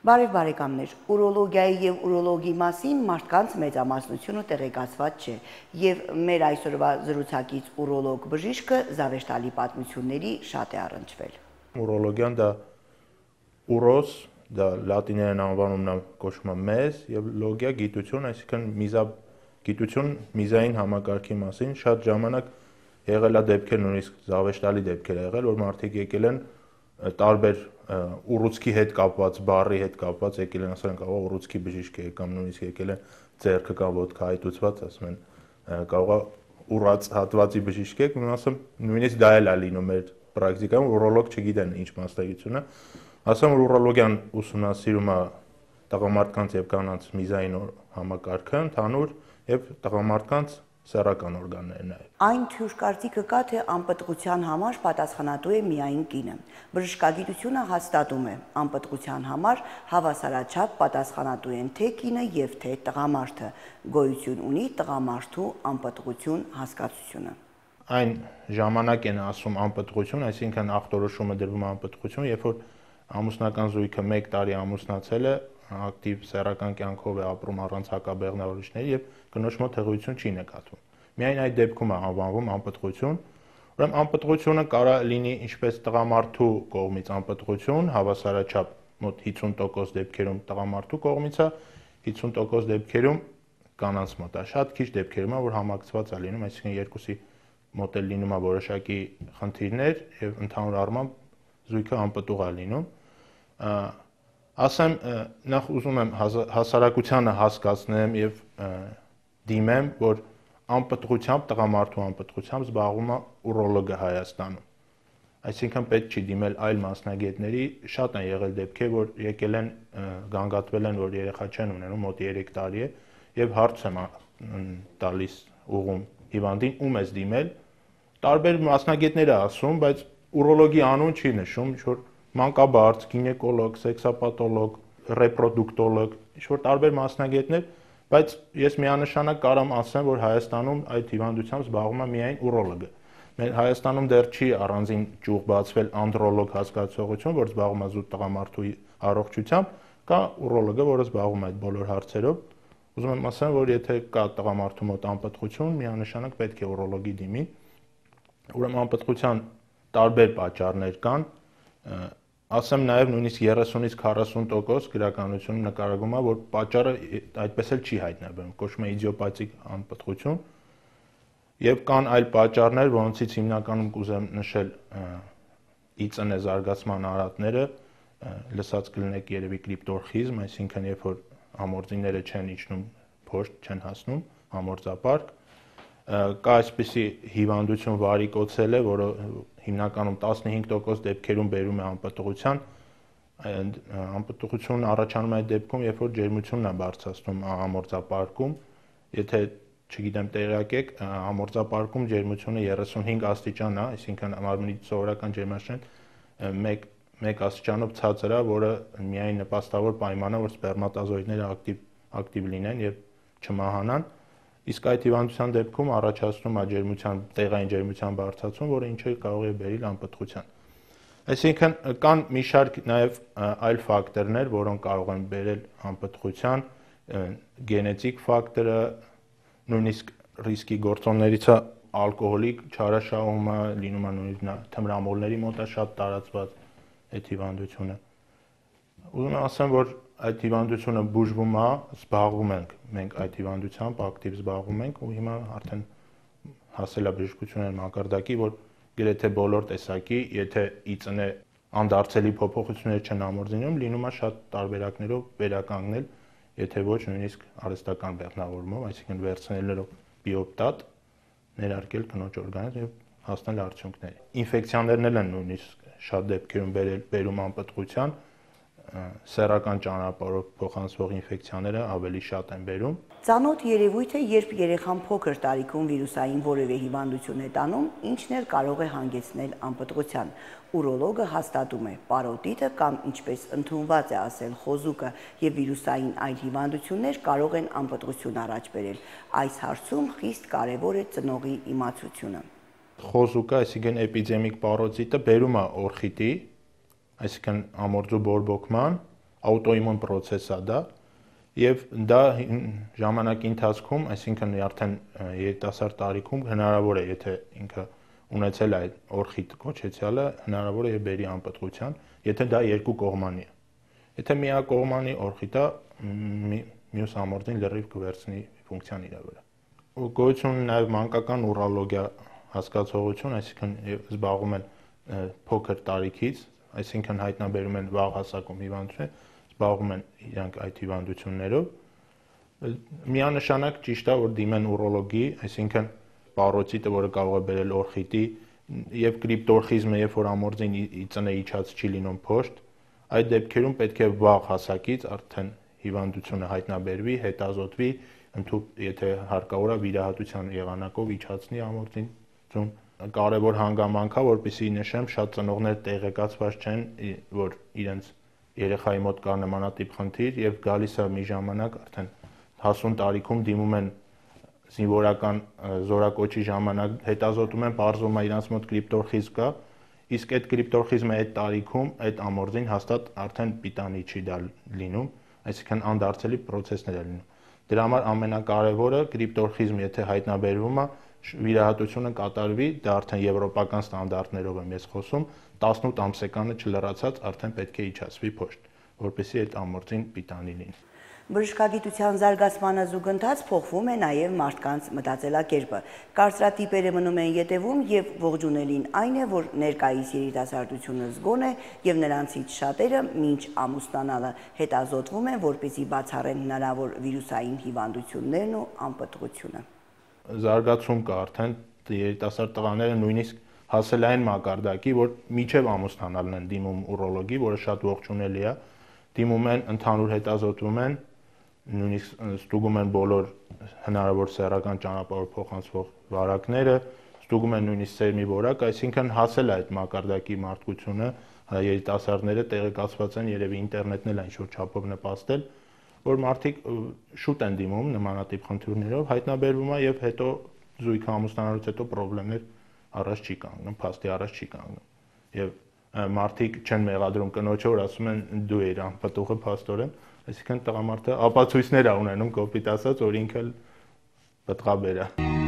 Բարև բարեկամներ, ուրոլոգիայի եւ ուրոլոգի մասին մարդկանց մեծամասնությունը տեղեկացված չէ եւ մեր այսօրվա զրուցակից ուրոլոգ բժիշկը զավեշտալի պատմությունների շատ է առնչվել։ Ուրոլոգիան դա ուրոս, դա լատիներեն անվանումն է կոչվում է մեզ եւ լոգիա գիտություն, այսինքն գիտություն միզային համակարգի մասին շատ ժամանակ եղել է դեպքեր, նույնիսկ զավեշտալի դեպքեր եղել, որ մարդիկ եկել են տարբեր ուռուցքի հետ կապված, բառի հետ կապված եկել են, ասենք, կարող է ուռուցքի բժիշկ է կամ նույնիսկ եկել են ձեռքը կամ ոտքը հայտուցված, ասում են, կարող է ուռած հատվածի բժիշկ է, ասում, նույնիսկ դա էլ է լինում մեր պրակտիկայում, ուրոլոգ չգիտեն ինչ մասնագիտություն է, ասում, որ ուրոլոգիան ուսումնասիրում է տղամարդկանց եւ կանանց միզային համակարգը, ընդհանուր եւ տղամարդկանց սեռական օրգանները նաեւ։ Այն թյուր կարծիքը կա, թե անպտղության համար պատասխանատու է միայն կինը։ Բժշկագիտությունը հաստատում է, անպտղության համար հավասարաչափ պատասխանատու են թե կինը եւ թե տղամարդը։ Գոյություն ունի տղամարդու անպտղություն հասկացությունը։ Այն ժամանակ են ասում անպտղություն, այսինքն ախտորոշումը դրվում է անպտղություն, երբ որ ամուսնական զույգը 1 տարի ամուսնացել է, ակտիվ սեռական կյանքով է ապրում առանց հակաբեղնավորիչների եւ կնոջ մոտ հղիություն չի նկատվում։ Միայն այդ դեպքում է անվանվում անպտղություն։ Ուրեմն անպտղությունը կարող է լինի ինչպես տղամարդու կողմից անպտղություն, հավասարաչափ մոտ 50% դեպքերում տղամարդու կողմից է, 50% դեպքերում կանանց մոտ է։ Շատ քիչ դեպքերում է, որ համակցված է լինում, այսինքն երկուսի մոտ էլ լինում է որոշակի խնդիրներ եւ ընդհանուր առմամբ զույգը անպտուղ է լինում։ Ասեմ, նախ ուզում եմ հասարակությանը հասկացնեմ եւ դիմեմ, որ անպտղությամբ, տղամարդու անպտղությամբ զբաղվում է ուրոլոգը Հայաստանում։ Այսինքն պետք չի դիմել այլ մասնագետների, շատ են եղել դեպքեր, որ եկել են, գանգատվել են, որ երեխա չեն ունենում, մոտ 3 տարի է, եւ հարց եմ տալիս ուղում հիվանդին, ում ես դիմել։ Տարբեր մասնագետներ է ասում, բայց ուրոլոգի անուն չի նշում, ինչ որ մանկաբարձ, գինեկոլոգ, սեքսապաթոլոգ, ռեպրոդուկտոլոգ, ինչ որ տարբեր մասնագետներ, բայց ես միանշանակ կարող ասեմ, որ Հայաստանում այդ հիվանդությամբ զբաղվում է միայն ուրոլոգը։ Մեր Հայաստանում դեռ չի առանձին ճյուղ բացվել անդրոլոգ հասկացողություն, որ զբաղվում է զուտ տղամարդու առողջությամբ, կա ուրոլոգը, որը զբաղվում է այդ բոլոր հարցերով։ Ուզում եմ ասեմ, որ եթե կա տղամարդու մոտ անպտղություն, միանշանակ պետք է ուրոլոգի դիմի։ Ուրեմն անպտղության տարբեր պատճառներ կան, ասեմ նաև նույնիսկ 30-ից 40% գրականությունում նկարագրում է, որ պատճառը այդպես էլ չի հայտնաբերվում, կոչվում է իդիոպաթիկ անպտղություն, եւ կան այլ պատճառներ, որոնցից հիմնականում կուզեմ նշել ԻԾՆ զարգացման արատները, լսած կլինեք երևի կրիպտորխիզմ, այսինքն երբ որ ամորձիները չեն իջնում փոշտ, չեն հասնում ամորձապարկ, կա այսպիսի հիվանդություն վարիկոցելը, որը հիմնականում 15% դեպքերում բերում է անպտղության, անպտղությունն առաջանում է այդ դեպքում, երբ որ ջերմությունն է բարձրացնում ամորձապարկում, եթե չգիտեմ տեղյակ եք, ամորձապարկում ջերմությունը 35 աստիճան է, այսինքն մարմնի սովորական ջերմաշեն 1 աստիճանով ցածր է, որը միայն նպաստավոր պայման է, որ սպերմատոզոիդները ակտիվ լինեն եւ չմահանան, իսկ այդ հիվանդության դեպքում առաջացնում է տեղային ջերմության բարձրացում, որը ինչը կարող է բերել անպտղության։ Այսինքն կան մի շարք նաև այլ ֆակտորներ, որոնք կարող են բերել անպտղության, գենետիկ ֆակտորը, նույնիսկ ռիսկի գործոններից է ալկոհոլի չարաշահումը, լինում է նույնիսկ թմրամոլների մոտ է շատ տարածված այդ հիվանդությունը։ Ուզում եմ ասեմ, որ այդ հիվանդությունը բուժվում է, զբաղվում ենք մենք այդ հիվանդությամբ, ակտիվ զբաղվում ենք ու հիմա արդեն հասել է բժշկությունը մակարդակի, որ գրեթե բոլոր տեսակի, եթե ԻԾՆ անդարձելի փոփոխություններ չեն ամորձինում, լինում է շատ տարբերակներով վերականգնել, եթե ոչ նույնիսկ արհեստական բեղմնավորումով, այսինքն վերցնելով բիոպտատ, ներարկել կնոջ օրգանիզմ եւ հասնել արդյունքների։ Ինֆեկցիաներն են նույնիսկ շատ դեպքերում բերում անպտղության, սեռական ճանապարհով փոխանցվող ինֆեկցիաները ավելի շատ են բերում։ Ծանոթ երևույթ է, երբ երեխան փոքր տարիքում վիրուսային որևէ հիվանդություն է տանում, ինչն էլ կարող է հանգեցնել անպտղության։ Ուրոլոգը հաստատում է պարոտիտը կամ ինչպես ընդունված է ասել խոզուկը եւ վիրուսային այլ հիվանդություններ կարող են անպտղություն առաջ բերել։ Այս հարցում խիստ կարևոր է ծնողի իմացությունը։ Խոզուկը, այսինքն էպիդեմիկ պարոտիտը բերում է օրխիտի, այսինքն ամորձու բորբոքման, աուտոիմուն process է դա, եւ դա ժամանակի ընթացքում, այսինքն արդեն երիտասարդ տարիքում հնարավոր է, եթե ինքը ունեցել է այդ օրխիտ կոչեցյալը, հնարավոր է բերի անպտղության, եթե դա երկկողմանի է։ Եթե միակողմանի օրխիտ է, մյուս ամորձին լրիվ կվերցնի ֆունկցիան իր վրա։ Գոյություն ունի նաև մանկական ուրոլոգիա հասկացողություն, այսինքն զբաղվում են փոքր տարիքից, այսինքն հայտնաբերում են վաղ հասակում հիվանդություն, զբաղվում են իրանք այդ հիվանդություններով։ Միանշանակ ճիշտ է, որ դիմեն ուրոլոգի, այսինքն պարոցիտը, որը կարող է բերել օրխիտի, եւ կրիպտորխիզմը, երբ որ ամորձին ծնե իջած չի լինում փոշտ, այդ դեպքերում պետք է վաղ հասակից արդեն հիվանդությունը հայտնաբերվի, հետազոտվի, եթե հարկավոր է վիրահատության եղանակով իջացնի ամորձին ձուն։ Կարևոր հանգամանք է, որպեսզի նշեմ, շատ ծնողներ տեղեկացված չեն, որ իրենց երեխայի մոտ կա նմանատիպ խնդիր եւ գալիս է մի ժամանակ արդեն հասուն տարիքում դիմում են զինվորական զորակոչի ժամանակ, հետազոտում են, պարզվում է իրանց մոտ կրիպտորխիզմ կա, իսկ այդ կրիպտորխիզմը այդ տարիքում այդ ամորձին հաստատ արդեն պիտանի չի դա լինում, այսինքն անդարձելի process-ներ է լինում։ Դրա համար ամենակարևորը կրիպտորխիզմ, եթե հայտնաբերվում է, վիրահատությունը կատարվի, դա արդեն եվրոպական ստանդարտներով եմ ես խոսում, 18 ամսեկանը չլրացած արդեն պետք է իջացվի փոշտ, որպեսզի այդ ամորձին պիտանի լինի։ Բժշկագիտության զարգացմանը զուգընթաց փոխվում է նաև մարդկանց մտածելակերպը։ Կարծրատիպերը մնում են ետևում եւ ողջունելին այն է, որ ներկայիս երիտասարդությունը զգոն է եւ նրանցից շատերը մինչ ամուսնանալը հետազոտվում են, որպեսզի բացառեն հնարավոր վիրուսային հիվանդություններն ու անպտղությունը։ Զարգացում կա արդեն երիտասարդ տղաները նույնիսկ հասել այն մակարդակի, որ միջև ամուսնանալն են դիմում ուրոլոգի, որը շատ ողջունելի է, դիմում են, ընդհանուր հետազոտվում են, նույնիսկ ստուգում են բոլոր հնարավոր սեռական ճանապարհով փոխանցվող վարակները, ստուգում են նույնիսկ սերմի որակ, այսինքն հասել է այդ մակարդակի մարդկությունը, երիտասարդները տեղեկացված են, երևի ինտերնետն էլ ինչ-որ չափով նպաստել, որ մարդիկ շուտ են դիմում նմանատիպ խնդիրներով, հայտնաբերվում է եւ հետո զույգը ամուսնանալուց հետո խնդիրներ առաջ չի կանգնում, փաստի առաջ չի կանգնում։ Եվ մարդիկ չեն մեղադրում կնոջը, որ ասում են դու ես անպտուղը փաստորեն, այսինքն տղամարդը ապացույցներ է ունենում կոպիտ ասած, որ ինքը պտղաբեր է։